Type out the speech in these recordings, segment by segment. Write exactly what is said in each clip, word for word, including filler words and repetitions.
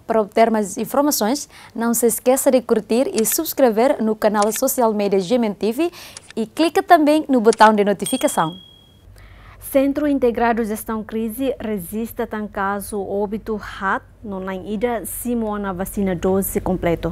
Para obter mais informações, não se esqueça de curtir e subscrever no canal social media G M N T V e clica também no botão de notificação. Sentru Integradu Jestaun Krize rejista tan kazu óbitu haat no na'in ida simu ona vasina doze kompletu.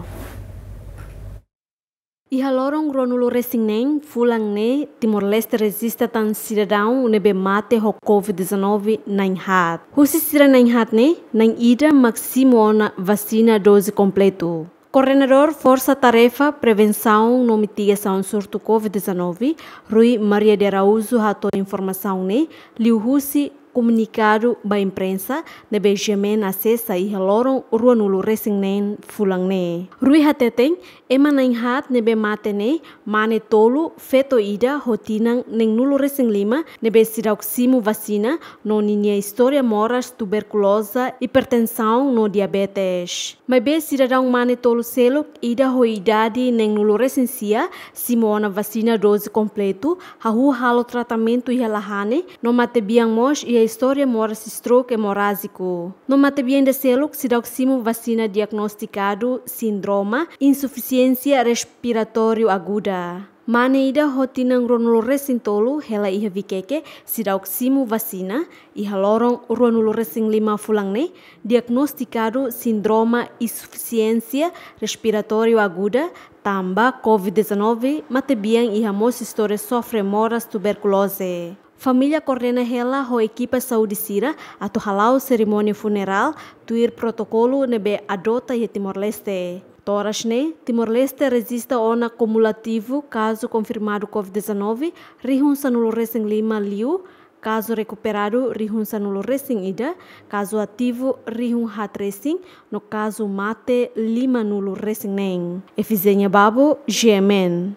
Iha loron ruanulu resin neen fulan ne'e, Timor-Leste rejista tan sidadaun ne'ebé mate ho covid dezanove na'in haat. Husi sira na'in haat ne'e, na'in ida mak simu ona vasina doze kompletu. Koordenadór Forsa Tarefa Prevensaun no Mitigasaun Surtu covid dezanove, Rui Maria de Araújo, hato'o informasaun ne'e liuhusi komunikadu ba imprensa ne'ebé G M N asesa iha loron ruanulu resin neen fulan ne'e. Rui hateten, ema na'in haat ne'ebé mate ne'e, mane tolu, feto ida ho tinan neenulu resin lima ne'ebé seidauk simu vasina no ninia istória moras tuberkuloza, hipertensaun no diabetes. Maibé sidadaun mane tolu seluk, ida ho idade neenulu resin sia, simu ona vasina doze kompletu, hahú halo tratamentu iha Lahane, no matebian mós iha istória moras stroke emorájiku. No matebian ida seluk seidauk simu vasina diagnostikadu síndrome insufisiénsia respiratóriu aguda. Mane ida ho tinan ruanulu resin tolu hela iha Vikeke seidauk simu vasina iha loron ruanulu resin lima fulan ne'e, diagnostikadu síndrome insufisiénsia respiratóriu aguda, tanba covid dezanove, matebian iha mós istória sofre moras tuberkuloze. Família koordena hela ho ekipa saúde sira atu hala'o serimónia funerál tuir protokolu ne'ebé adota iha Timor-Leste. To'o oras ne'e, Timor-Leste rejista ona kumulativu kazu konfirmadu covid dezanove rihun sanulu resin lima liu, kazu rekuperadu rihun sanulu resin ida, kazu ativu rihun haat resin, no kazu mate limanulu resin neen. Efizénia Babo, G M N.